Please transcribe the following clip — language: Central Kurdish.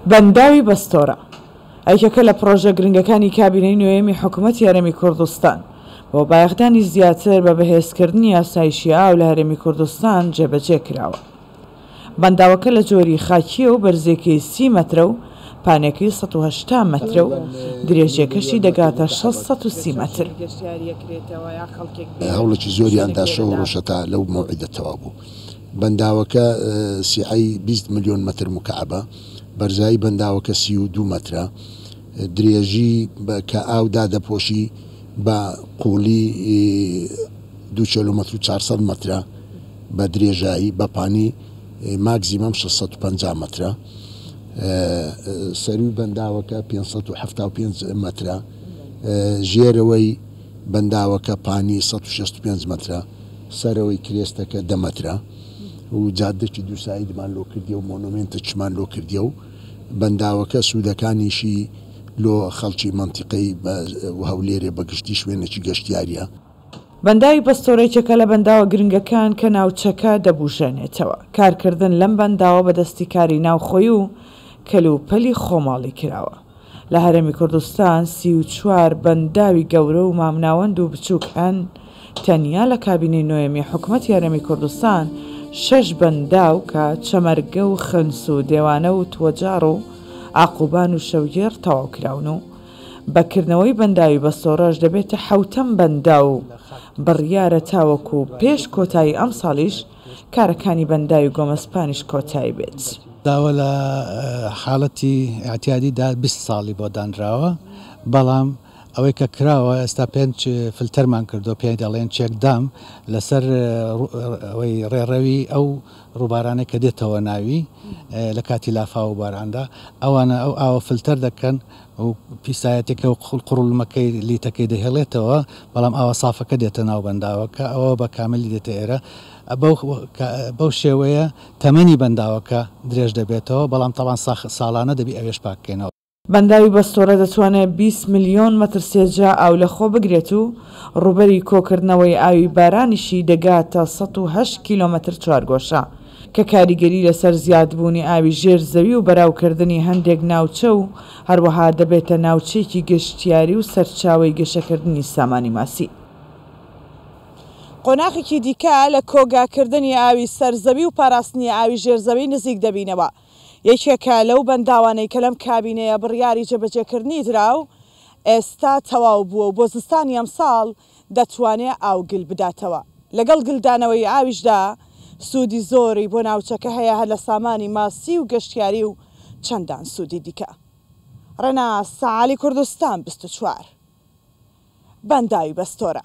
بەنداوی بەستۆرە یەکێکە لە پڕۆژە گرنگەکانی کابینەی نۆیەمی حکومەتی هەرێمی کوردستان بۆ بایەخدانی زیاتر بە بەهێزکردنی ئاسایشی ئاو لە هەرێمی کوردستان جێبەجێ کراوە. بەنداوەکە لە جۆری خاکییە و بەرزییەکەی سی مەترە و پانیەکەی 180 مەترە و درێژییەکەشی دەگاتە 630 مەتر. هەوڵێکی زۆریان دا شەو و ڕۆژ هەتا لەو مەوعیدە تەواو بوو. بەنداوەکە سیعەی 20 ملیۆن مەتر موکەعەبە، بەرزایی بەنداوەکە 32 مەترە، درێژی کە ئاو دادەپۆشی بە قووڵی دوو کیلۆمەتر و 400 مەترە بە درێژایی، بە پانی ماکزیمەم 650 مەترە. سەرووی بەنداوەکە 575 مەترە، ژێرەوەی بەنداوەکە پانی 165 مەترە، سەرەوەی کرێستەکە 10 مەترە و جادەکی دوو سایدمان لۆ کردیە و مۆنۆمێنتەکیشمان لۆ کردیە و بەنداوەکە سوودەکانیشی لۆ خەڵکی مەنتیقەی و هەولێرێ بە گشتی شوێنێکی گەشتیاریە. بەنداوی پەستۆرە یەکێکە لە بەنداوە گرنگەکان کە ناوچەکە دەبوژێنێتەوە. کارکردن لەم بەنداوە بە دەستی کاری ناوخۆی و کەلوپەلی خۆماڵی کراوە. لە هەرێمی کوردستان 34 بەنداوی گەورە و مامناوەند و بچووک هەن، تەنیا لە کابینەی نۆیەمی حکومەتی هەرێمی کوردستان شەش بەنداو کە چەمەرگە و خنس و دێوانە و توەجاڕ و ئاقوبان و شەوگێڕ تەواو کراون و بە کردنەوەی بەنداوی بەستۆڕەش دەبێتە حەوتەم بەنداو و بڕیارە تاوەکو پێش کۆتایی ئەمساڵیش کارەکانی بەنداوی گۆمەسپانیش کۆتایی بێت. داوە لە حاڵەتی ئیعتیادی دا 20 ساڵی بۆ دانراوە، بەڵام ئەوەی کە کراوە ئێستا پێنج فلتەرمان کردووە پێی دەڵێن check dam لەسەر ئەوەی ڕێڕەوی ئەو ڕووبارانەی کە دێتەوە ناوی لە کاتی لافاو و باراندا ئەوانە ئەو ئاوە فلتەر دەکەن و پیسایەتەکە و قوڕلمەکەی لیتەکەی دەهێڵێتەوە، بەڵام ئاوە سافەکە دێتە ناو بەنداوەکە، ئەوە بە کاملی دێتە ئێرە. بەو شێوەیە تەمەنی بەنداوەکە درێژ دەبێتەوە، بەڵام تەبعەن ساڵانە دەبی ئەوێش پاک بکەینەوە. بەنداوی بەستۆرە دەتوانێت 20 ملیۆن مەتر سێجا ئاو لەخۆ بگرێت و ڕووبەری کۆکردنەوەی ئاوی بارانیشی دەگاتە 108 کیلۆمەتر چوارگۆشە، کە کاریگەری لەسەر زیادبوونی ئاوی ژێر زەوی و بەراوکردنی هەندێک ناوچە و هەروەها دەبێتە ناوچەیەکی گەشتیاری و سەرچاوەی گەشەکردنی سامانی ماسی. قۆناخێکی دیکە لە کۆگاکردنی ئاوی سەر زەوی و پاراستنی ئاوی ژێر زەوی نزیک دەبینەوە. یەکێکە لەو بەنداوانەی کە لەم کابینەیە بڕیاری جێبەجێکردنی درا و ئێستا تەواو بووە و بۆ زستانی ئەمساڵ دەتوانێ ئاو گل بداتەوە. لەگەڵ گلدانەوەی ئاویشدا سوودی زۆری بۆ ناوچەکە هەیە هەر لە سامانی ماسی و گەشتیاری و چەندان سوودی دیکە. ڕێناس عەلی کوردستان 24 بەنداوی بەستۆرە.